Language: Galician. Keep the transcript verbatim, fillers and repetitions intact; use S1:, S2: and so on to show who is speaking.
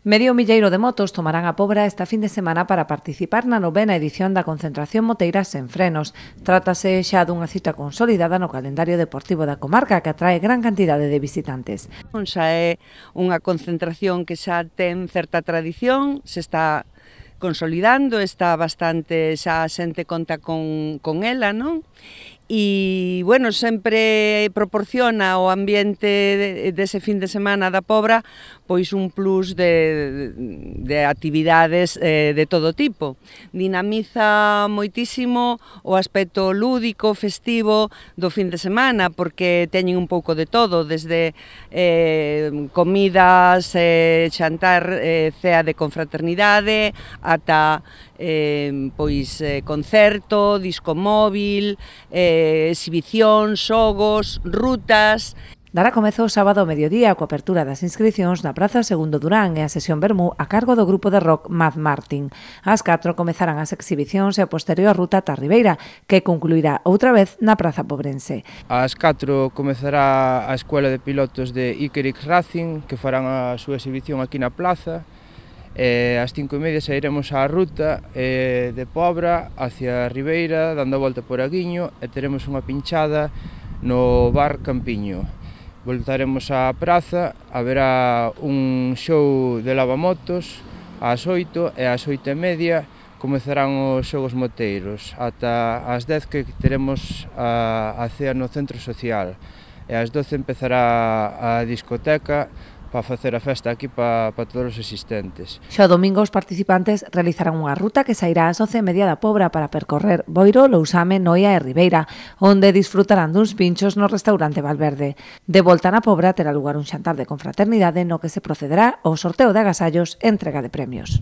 S1: Medio milleiro de motos tomarán a Pobra esta fin de semana para participar na novena edición da concentración moteira Sen Frenos. Trátase xa dunha cita consolidada no calendario deportivo da comarca que atrae gran cantidade de visitantes.
S2: Xa é unha concentración que xa ten certa tradición, se está consolidando, está bastante, xa a xente conta con, con ela, non? E, bueno, sempre proporciona o ambiente dese fin de semana da Pobra pois un plus de, de actividades eh, de todo tipo. Dinamiza moitísimo o aspecto lúdico, festivo do fin de semana, porque teñen un pouco de todo, desde eh, comidas, eh, xantar, eh, cea de confraternidade, ata eh, pois eh, concerto, disco móvil, eh, exhibición, xogos, rutas.
S1: Dará comezo o sábado ao mediodía coa apertura das inscricións na Praza Segundo Durán e a sesión vermú a cargo do grupo de rock Mad Martin. Ás catro comezarán as exhibicións e a posterior ruta ata Ribeira, que concluirá outra vez na Praza Pobrense.
S3: Ás catro comezará a Escuela de Pilotos de Ikerix Racing, que farán a súa exhibición aquí na plaza. E ás cinco e media sairemos á ruta eh, de Pobra hacia Ribeira, dando a volta por Aguiño, e teremos unha pinchada no bar Campiño. Voltaremos á praza, haberá un show de lavamotos ás oito e ás oito e media comezarán os xogos moteiros ata ás dez, que teremos a, a cea no centro social, e ás doce empezará a discoteca para facer a festa aquí para, para todos os asistentes.
S1: Xa o domingo os participantes realizarán unha ruta que sairá ás once e media da Pobra para percorrer Boiro, Lousame, Noia e Ribeira, onde disfrutarán duns pinchos no restaurante Valverde. De volta na Pobra terá lugar un xantar de confraternidade no que se procederá ao sorteo de agasallos e entrega de premios.